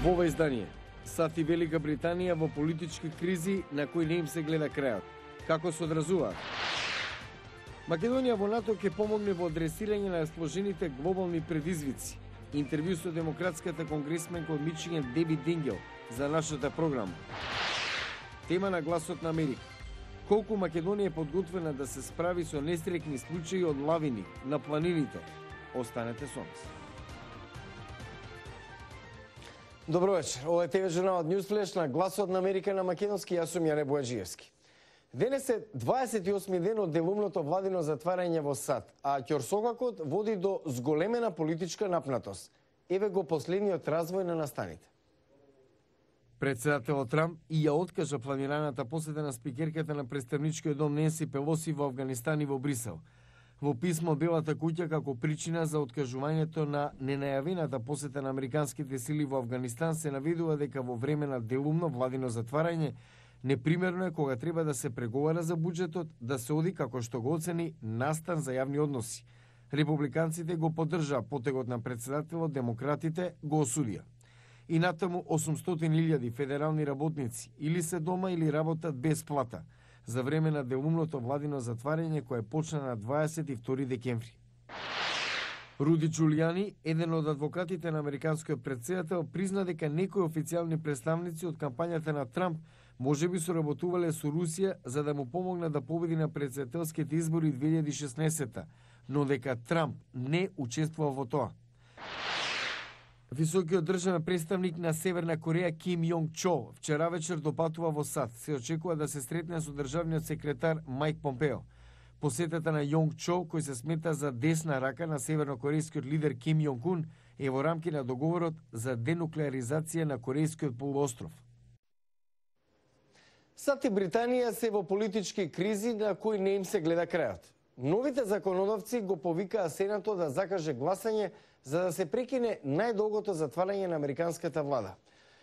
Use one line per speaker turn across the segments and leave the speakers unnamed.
Во ова издание, САД и Велика Британија во политички кризи на кои не им се гледа крајот. Како се одразуваат? Македонија во НАТО ќе помогне во адресирање на сложените глобални предизвици. Интервју со демократската конгресменка од Мичиган Деби Дингел за нашата програма. Тема на гласот на Америка. Колку Македонија е подготвена да се справи со несреќни случаи од лавини на планините? Останете со нас.
Добро вечер. Ова е ТВ журналот Newsflash на гласот на Америка на македонски. Јас сум Јане Бојаджиевски. Денес е 28 ден од делумното владино затварање во САД, а ќорсокакот води до зголемена политичка напнатост. Еве го последниот развој на настаните.
Председателот Трамп и ја откажа планираната посета на спикерката на представничкиот дом Ненси Пелоси во Авганистан и во Брисел. Во писмо Белата куќа како причина за откажувањето на ненајавената посета на американските сили во Авганистан се наведува дека во време на делумно владино затварање непримерно е кога треба да се преговара за буџетот да се оди како што го оцени настан за јавни односи. Републиканците го поддржаа потегот на председателот, демократите го осудија. И натаму 800.000 федерални работници или се дома или работат без плата за време на делумното владино затварање кое почна на 22 декември. Руди Джулијани, еден од адвокатите на американскиот председател, призна дека некои официјални представници од кампањата на Трамп можеби соработувале со Русија за да му помогнат да победи на председателските избори 2016, но дека Трамп не учествува во тоа. Високиот државен представник на Северна Кореја Ким Јонг Чол вчера вечер допатува во САД. Се очекува да се сретне со државниот секретар Мајк Помпео. Посетата на Јонг Чол, кој се смета за десна рака на севернокорејскиот лидер Ким Јонг Ун, е во рамки на договорот за денуклеаризација на Корејскиот полуостров.
САД и Британија се во политички кризи на кои не им се гледа крајот. Новите законодавци го повикаа Сенатот да закаже гласање за да се прекине најдолгото затварање на американската влада.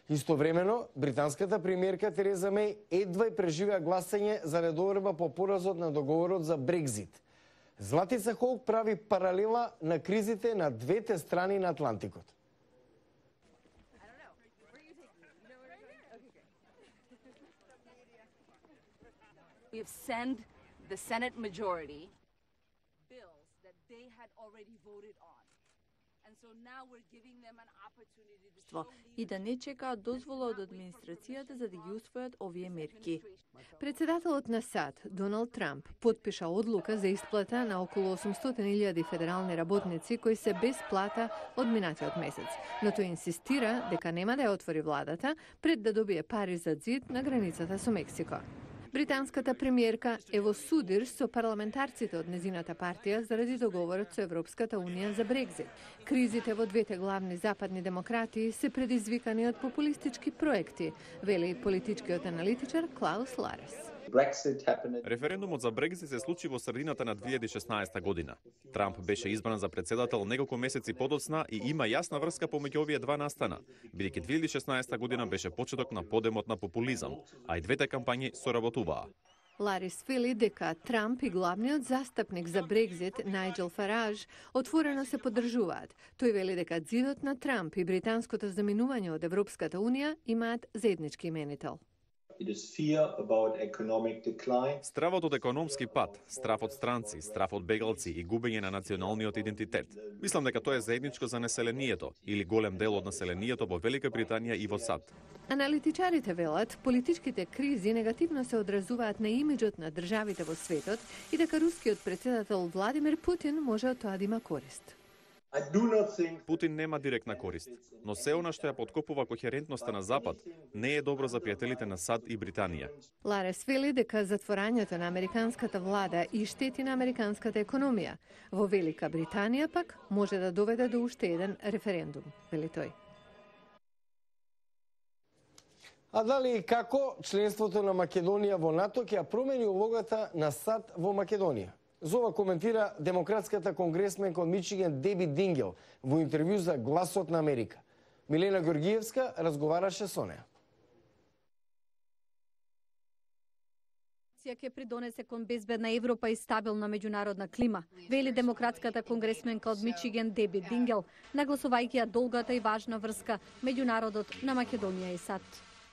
Истовремено, британската премиерка Тереза Меј едва и преживеа гласање за недоверба по поразот на договорот за Брекзит. Златица Холк прави паралела на кризите на двете страни на Атлантикот.
We have sent the Senate majority bills that they had already voted on. And so now we're giving them an opportunity to show
и да не чекаат дозвола од администрацијата за да ги усвојат овие мерки.
Председателот на САД, Доналд Трамп, подпиша одлука за исплата на околу 800.000 федерални работници кои се без плата од минатиот месец, но тој инсистира дека нема да ја отвори владата пред да добие пари за ѕид на границата со Мексико. Британската премиерка е во судир со парламентарците од незината партија заради договорот со Европската унија за Брекзит. Кризите во двете главни западни демократии се предизвикани од популистички проекти, вели политичкиот аналитичар Клаус Ларес.
Референдумот за Брекзит се случи во средината на 2016 година. Трамп беше избран за председател неколку месеци подоцна и има јасна врска помеѓу овие два настана, бидејќи 2016 година беше почеток на подемот на популизам, а и двете кампањи соработуваа.
Ларис вели дека Трамп и главниот застапник за Брекзит, Најџел Фараж, отворено се поддржуваат. Тој вели дека ѕидот на Трамп и британското заминување од Европската унија имаат заеднички именител.
Стравот од економски пат, страф од странци, страф од бегалци и губење на националниот идентитет. Мислам дека тоа е заедничко за населението или голем дел од населението во Велика Британија и во САД.
Аналитичарите велат, политичките кризи негативно се одразуваат на имиџот на државите во светот и дека рускиот председател Владимир Путин може од тоа да има корист.
Путин нема директна корист, но се она што ја подкопува кохерентноста на Запад не е добро за пријателите на САД и Британија.
Ларес вели дека затворањето на американската влада и штети на американската економија. Во Велика Британија пак може да доведе до уште еден референдум, вели тој.
А дали и како членството на Македонија во НАТО ќе ја промени улогата на САД во Македонија? За ова коментира демократската конгресменка од Мичиган Деби Дингел во интервју за Гласот на Америка. Милена Георгиевска разговараше со неа.
револуција ќе придонесе кон безбедна Европа и стабилна меѓународна клима, вели демократската конгресменка од Мичиген Деби Дингел, нагласувајќи ја долгата и важна врска меѓу народот на Македонија и САД.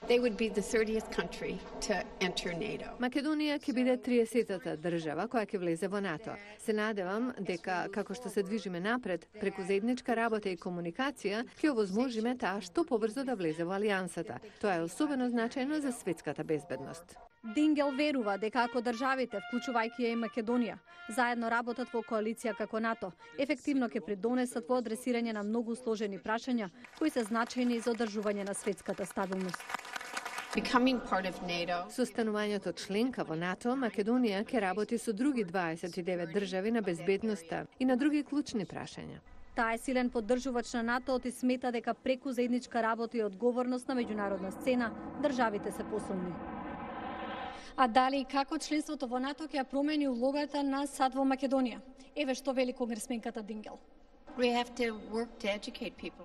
They would be the 30th country to enter NATO.
Македонија ќе биде 30-та држава која ќе влезе во НАТО. Се надевам дека како што се движиме напред, преку заедничка работа и комуникација, ќе овозможиме таа што побрзо да влезе во алијансата. Тоа е особено значајно за светската безбедност.
Дингел верува дека ако државите, вклучувајќи ја и Македонија, заедно работат во коалиција како НАТО, ефективно ќе придонесат во адресирање на многу сложени прашања кои се значајни за одржување на светската стабилност.
Со станувањето членка во НАТО, Македонија ќе работи со други 29 држави на безбедноста и на други клучни прашања.
Таа е силен поддржувач на НАТО и смета дека преку заедничка работа и одговорност на меѓународна сцена, државите се посилни. А дали и како членството во НАТО ќе ја промени улогата на САД во Македонија? Еве што вели конгресменката Дингел.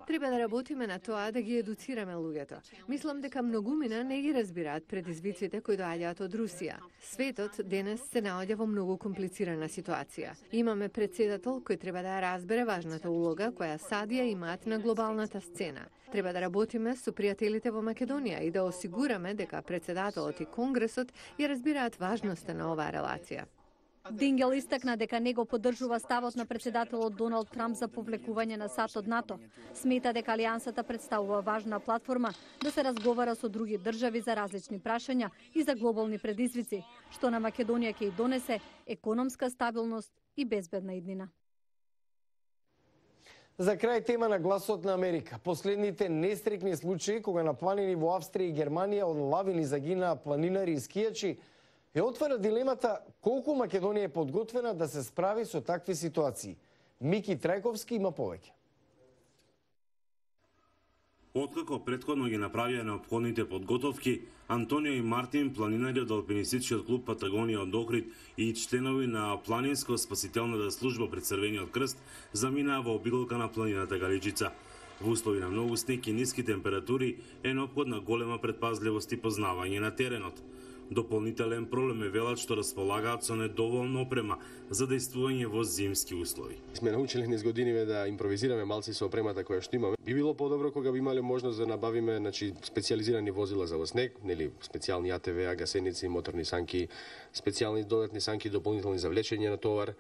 Треба да работиме на тоа да ги едуцираме луѓето. Мислам дека многумина не ги разбираат предизвиците кои доаѓаат од Русија. Светот денес се наоѓа во многу комплицирана ситуација. Имаме председател кој треба да ја разбере важната улога која САД ја имаат на глобалната сцена. Треба да работиме со пријателите во Македонија и да осигураме дека председателот и Конгресот ја разбираат важноста на оваа релација.
Дингел истакна дека него поддржува ставот на председателот Доналд Трамп за повлекување на САД од НАТО. Смета дека алијансата представува важна платформа да се разговара со други држави за различни прашања и за глобални предизвици, што на Македонија ќе и донесе економска стабилност и безбедна иднина.
За крај тема на гласот на Америка. Последните нестрекни случаи кога на планини во Австрија и Германија од лавини загинаа планинари и скијачи ја отвара дилемата колку Македонија е подготвена да се справи со такви ситуации. Мики Трајковски има повеќе.
Откако претходно ги направија неопходните подготовки, Антонио и Мартин, планинари од алпинистичкиот клуб Патагонија од Охрид и членови на планинско-спасителната служба при Црвениот крст, заминаа во обиколка на планината Галичица. Во услови на многу снег и ниски температури е неопходна голема предпазливост и познавање на теренот. Дополнителен проблем е велат што располагаат со недоволно опрема за дејствување во зимски услови.
Сме научили низ годиниве да импровизираме малци со опремата која што имаме. Би било подобро кога би имале можност да набавиме, специјализирани возила за во снег, специјални АТВ, гасеници, моторни санки, специјални додатни санки дополнителни за влечење на товар,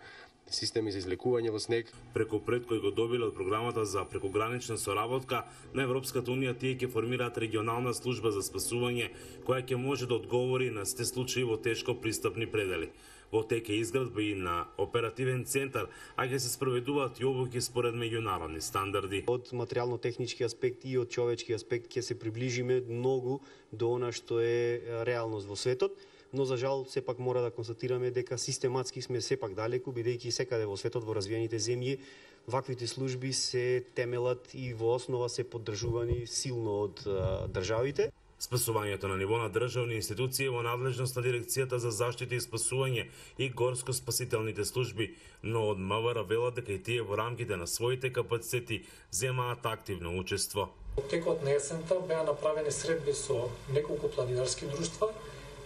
системи за излекување во снег.
Преку пред кој го добиле од програмата за прекогранична соработка на Европската унија, тие ќе формираат регионална служба за спасување која ќе може да одговори на сите случаи во тешко пристапни предели. Во тек е изградба и на оперативен центар, а ќе се спроведуваат и обуки според меѓународни стандарди.
Од материјално-технички аспект и од човечки аспект ќе се приближиме многу до она што е реалност во светот. Но за жал сепак мора да констатираме дека систематски сме сепак далеку, бидејќи секаде во светот, во развиените земји, ваквите служби се темелат и во основа се поддржувани силно од државите.
Спасувањето на ниво на државни институции е во надлежност на Дирекцијата за заштита и спасување и горско-спасителните служби, но од МВР велат дека и тие во рамките на своите капацитети земаат активно учество.
Во текот на есента беа направени средби со неколку планинарски друштва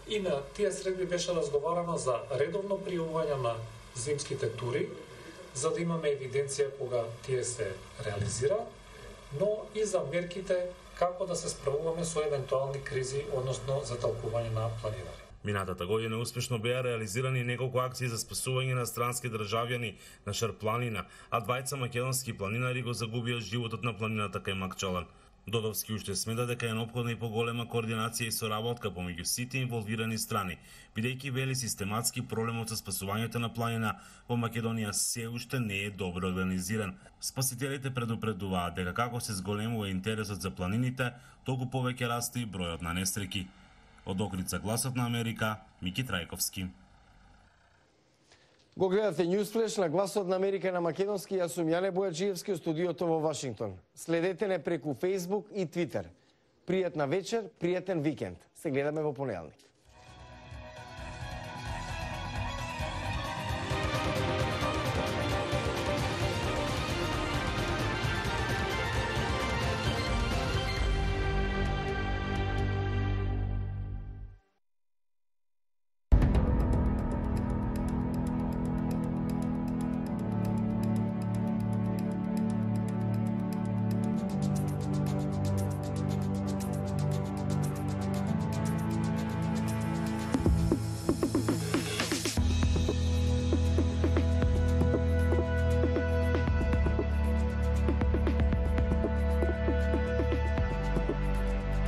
и на тие средби беше разговарано за редовно пријавување на зимските тури, за да имаме евиденција кога тие се реализира, но и за мерките како да се справуваме со евентуални кризи, односно затолкување на планинари.
Минатата година успешно беа реализирани неколку акции за спасување на странски државјани на Шарпланина, а двајца македонски планинари го загубија животот на планината кај Макчалан. Додовски уште смета дека е неопходна и поголема координација и соработка помеѓу сите инволвирани страни, бидејќи вели систематски проблемот со спасувањето на планина во Македонија се уште не е добро организиран. Спасителите предупредуваат дека како се зголемува интересот за планините, толку повеќе расте и бројот на несреќи. Од Охрид за Гласот на Америка, Мики Трајковски.
Го гледате Newsflash на Гласот на Америка на македонски. Јас сум Јане Бојаджиевски од студиото во Вашингтон. Следете не преку Facebook и Twitter. Пријатна вечер, пријатен викенд. Се гледаме во понеделник.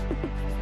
Thank you.